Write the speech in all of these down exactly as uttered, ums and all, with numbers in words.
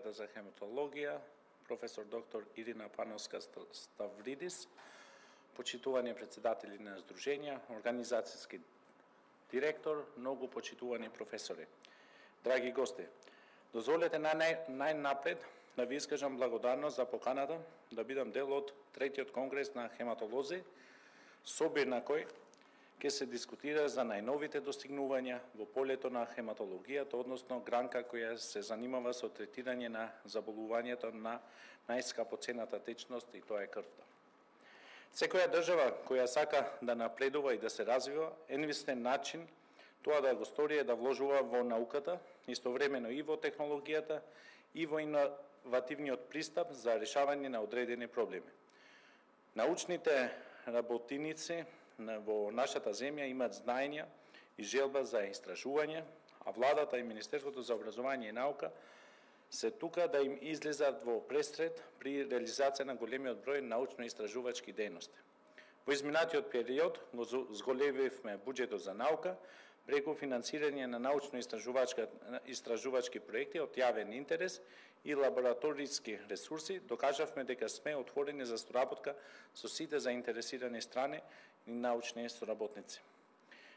клиниката за хематологија, професор доктор Ирина Пановска-Ставридис, почитувани председатели на Сдруженија, организацијски директор, многу почитувани професори. Драги гости, дозволете најнапред да ви искажам благодарност за поканата да бидам дел од третиот конгрес на хематолози, собир на кој ќе се дискутира за најновите достигнувања во полето на хематологијата, односно гранка која се занимава со третирање на заболувањето на најскапоцената течност, и тоа е крвта. Секоја држава која сака да напредува и да се развива, единствен начин тоа да го стори е да вложува во науката, истовремено и во технологијата, и во иновативниот пристап за решавање на одредени проблеми. Научните работиници во нашата земја имаат знаења и желба за истражување, а владата и Министерството за образование и наука се тука да им излезат во пресред при реализација на големиот број научно-истражувачки дејности. Во изминатиот период го зголемивме буџетот за наука преку финансирање на научно-истражувачки проекти од јавен интерес и лабораториски ресурси. Докажавме дека сме отворени за соработка со сите заинтересирани страни и научни соработници.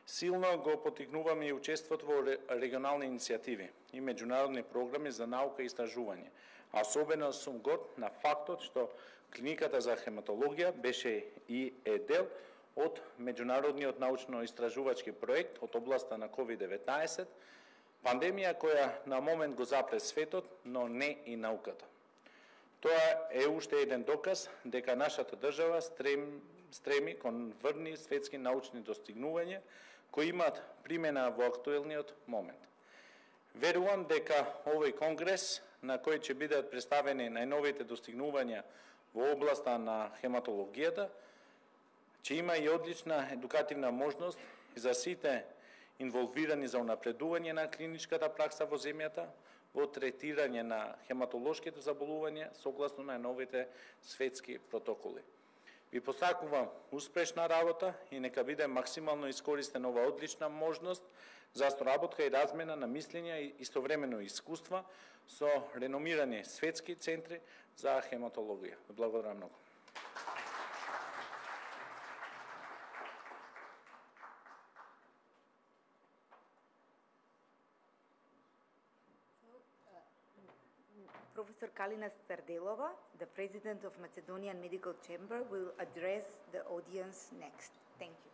Силно го поттикнуваме и учеството во регионални иницијативи и меѓународни програми за наука и истражување. А особено сум горд на фактот што клиниката за хематологија беше и е дел од меѓународниот научно-истражувачки проект од областа на ковид деветнаесет, пандемија која на момент го запре светот, но не и науката. Тоа е уште еден доказ дека нашата држава стреми, стреми кон врни светски научни достигнувања кои имаат примена во актуелниот момент. Верувам дека овој конгрес, на кој ќе бидат представени најновите достигнувања во областа на хематологијата, ќе има и одлична едукативна можност за сите инволвирани за унапредување на клиничката пракса во земјата, во третирање на хематолошките заболувања согласно на новите светски протоколи. Ви посакувам успешна работа и нека биде максимално искористена ова одлична можност за соработка и размена на мислења и истовремено искуства со реномирани светски центри за хематологија. Благодарам многу. Professor Kalina Stardelova, the President of Macedonian Medical Chamber, will address the audience next. Thank you.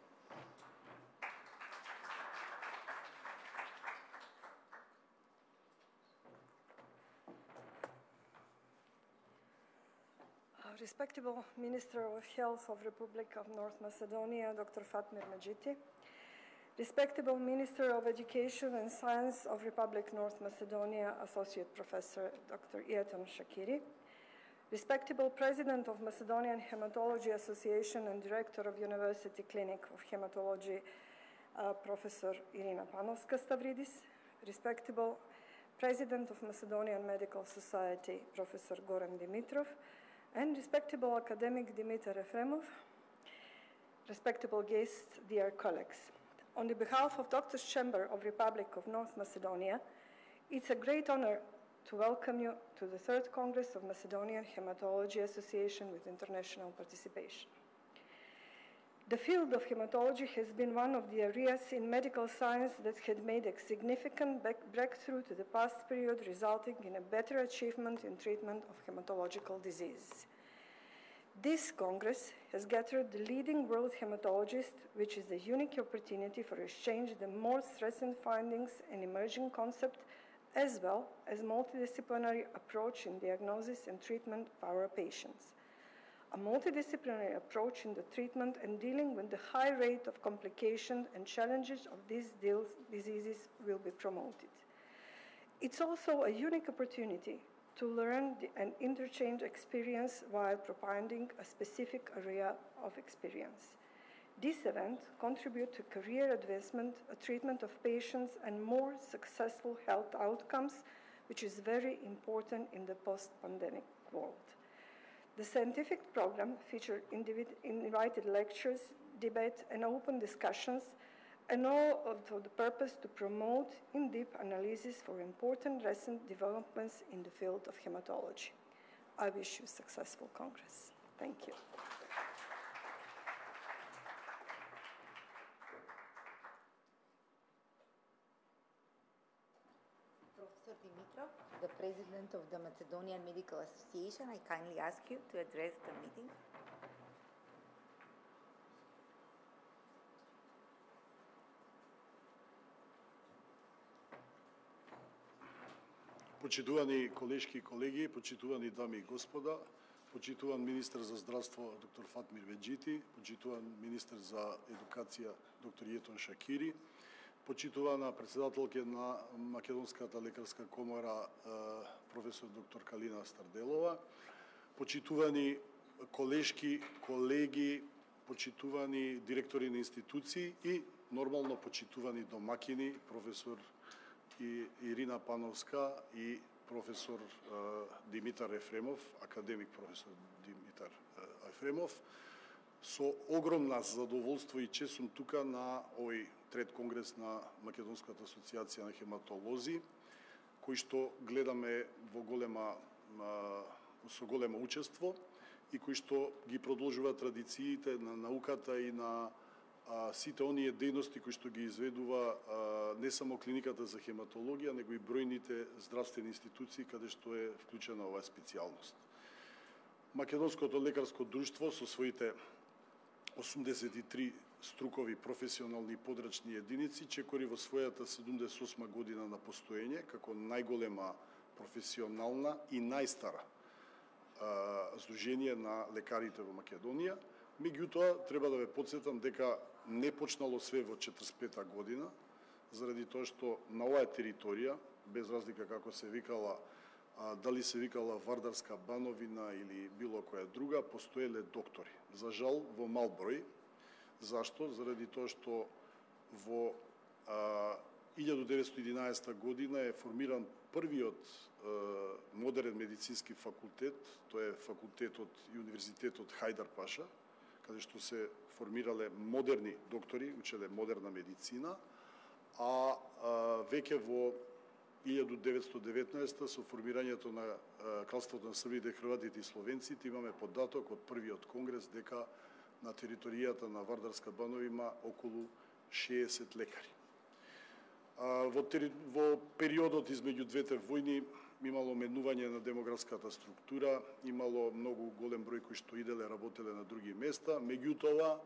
Uh, respectable Minister of Health of Republic of North Macedonia, Doctor Fatmir Medjiti, respectable Minister of Education and Science of Republic North Macedonia, Associate Professor Doctor Ieton Shakiri, respectable President of Macedonian Hematology Association and Director of University Clinic of Hematology, uh, Professor Irina Panovska-Stavridis, respectable President of Macedonian Medical Society, Professor Goran Dimitrov, and respectable academic Dimitar Efremov, respectable guests, dear colleagues. On the behalf of Doctors' Chamber of Republic of North Macedonia, it's a great honor to welcome you to the third Congress of Macedonian Hematology Association with international participation. The field of hematology has been one of the areas in medical science that had made a significant breakthrough to the past period, resulting in a better achievement in treatment of hematological diseases. This Congress has gathered the leading world hematologists, which is a unique opportunity for exchange the most recent findings and emerging concepts, as well as multidisciplinary approach in diagnosis and treatment of our patients. A multidisciplinary approach in the treatment and dealing with the high rate of complications and challenges of these diseases will be promoted. It's also a unique opportunity to learn and interchange experience while propounding a specific area of experience. This event contributes to career advancement, a treatment of patients, and more successful health outcomes, which is very important in the post-pandemic world. The scientific program featured invited lectures, debate, and open discussions and all for the purpose to promote in-depth analysis for important recent developments in the field of hematology. I wish you a successful Congress. Thank you. Professor Dimitrov, the President of the Macedonian Medical Association, I kindly ask you to address the meeting. Почитувани колешки и колеги, почитувани дами и господа, почитуван министер за здравство доктор Фатмир Меджити, почитуван министер за едукација доктор Јетон Шакири, почитувана председателка на Македонската лекарска комора професор доктор Калина Старделова, почитувани колешки, колеги, почитувани директори на институции и нормално почитувани домакини професор и Ирина Пановска и професор Димитар Ефремов, академик професор Димитар Ефремов. Со огромна задоволство и чест сум тука на овој трет конгрес на Македонската асоциација на хематолози, кој што гледаме во голема со големо учество и кој што ги продолжува традициите на науката и на а, сите оние дејности кои што ги изведува а, не само клиниката за хематологија, него и бројните здравствени институции каде што е вклучена оваа специјалност. Македонското лекарско друштво со своите осумдесет и три струкови професионални и подрачни единици чекори во својата седумдесет и осма година на постоење како најголема професионална и најстара а, здружение на лекарите во Македонија. Меѓутоа, треба да ве потсетам дека не почнало све во четридесет и пета година, заради тоа што на оваа територија, без разлика како се викала, а, дали се викала Вардарска бановина или било која друга, постоеле доктори. За жал, во мал број. Зашто? Заради тоа што во а, илјада деветстотини и единаесета година е формиран првиот а, модерен медицински факултет, тоа е факултетот и универзитетот Хајдар Паша, каде што се формирале модерни доктори, учеле модерна медицина, а, а веќе во илјада деветстотини и деветнаесета со формирањето на а, Кралството на Србите, Хрватите и Словенците имаме податок од првиот конгрес дека на територијата на Вардарска банова има околу шеесет лекари. А, во, тери... во периодот измеѓу двете војни имало менување на демографската структура, имало многу голем број кои што иделе, работеле на други места, меѓутоа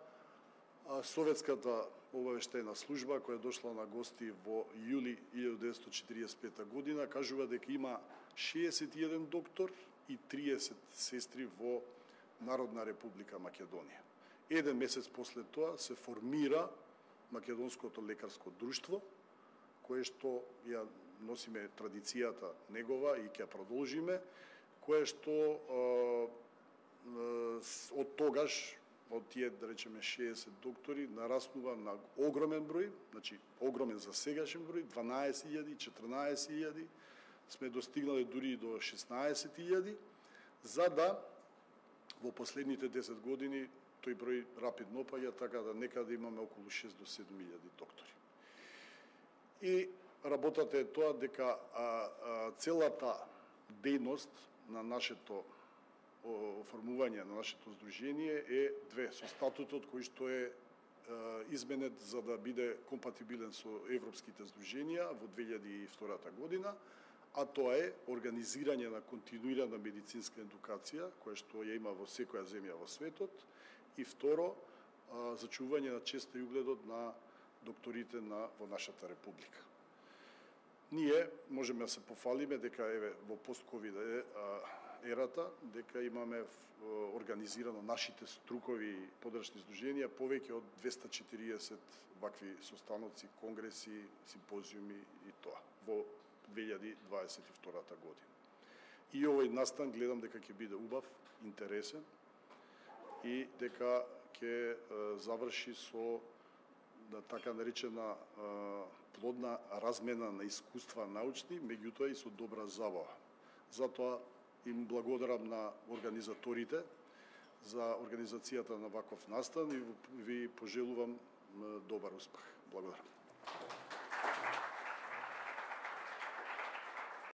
Советската обавештајна служба, која дошла на гости во јули илјада деветстотини четиридесет и пета година, кажува дека има шеесет и еден доктор и триесет сестри во Народна република Македонија. Еден месец после тоа се формира Македонското лекарско друштво, кое што ја носиме традицијата негова и ќе продолжиме, кое што а, од тогаш, од тие, да речеме, шеесет доктори, нараснува на огромен број, значи огромен за сегашен број, дванаесет илјади, четрнаесет илјади, сме достигнале дури и до шеснаесет илјади, за да во последните десет години тој број рапидно опаѓа, така да некаде имаме околу шест до седум илјади доктори. И работата е тоа дека а, а, целата дејност на нашето оформување на нашето здружение е две, со статутот кој што е, е изменет за да биде компатибилен со европските здруженија во две илјади и втора година, а тоа е организирање на континуирана медицинска едукација, која што ја има во секоја земја во светот, и второ, а, зачување на честа и угледот на докторите на, во нашата република. Ние можеме да се пофалиме дека еве во пост-ковид ерата, дека имаме организирано нашите струкови подрачни здруженија повеќе од двеста и четириесет вакви состаноци, конгреси, симпозиуми и тоа во две илјади дваесет и втора година. И овој настан гледам дека ќе биде убав, интересен и дека ќе заврши со да така наречена плодна размена на искуства научни, меѓутоа и со добра забава. Затоа им благодарам на организаторите за организацијата на ваков настан и ви пожелувам добар успех. Благодарам.